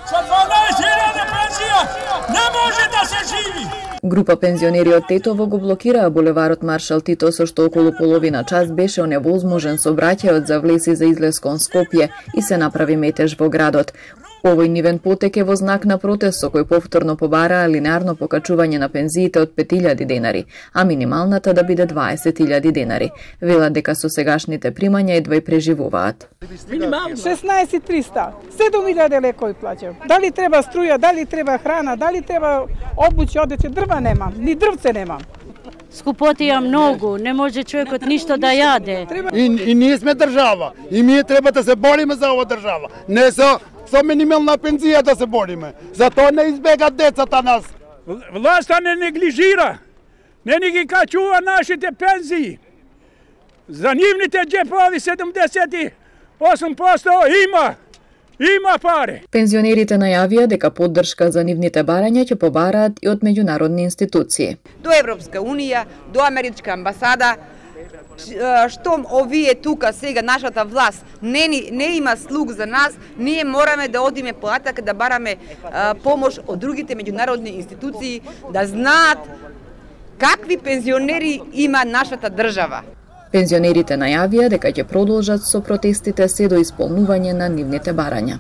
Со 12.000 пензија не може да се живи. Група пензионери од Тетово го блокираа булеварот Маршал Тито, со што околу половина час беше оневозможен сообраќајот за влез и за излез кон Скопје и се направи метеж во градот. Овој нивен потек е во знак на протест со кој повторно побараа линеарно покачување на пензиите од 5.000 денари, а минималната да биде 20.000 денари. Велат дека со сегашните примања едва и преживуваат. 16.300, 7.000 лекови плаќам. Дали треба струја, дали треба храна, дали треба обуќа, одење, дрва немам, ни дрвце немам. Скупотија многу, не може човекот ништо да јаде. И ние сме држава, и ние треба да се бориме за ова држава. Не со минимална пензија да се бориме. Затоа не избегат децата нас. Власта не неглижира, не ни ги качува нашите пензии. За нивните џепови 78% има пари. Пензионерите најавија дека поддршка за нивните барања ќе побараат и од меѓународни институции. До Европска унија, до Америчка амбасада, штом овие тука сега нашата власт не има слуг за нас, ние мораме да одиме понатака да бараме помош од другите меѓународни институции, да знаат какви пензионери има нашата држава. Пензионерите најавија дека ќе продолжат со протестите се до исполнување на нивните барања.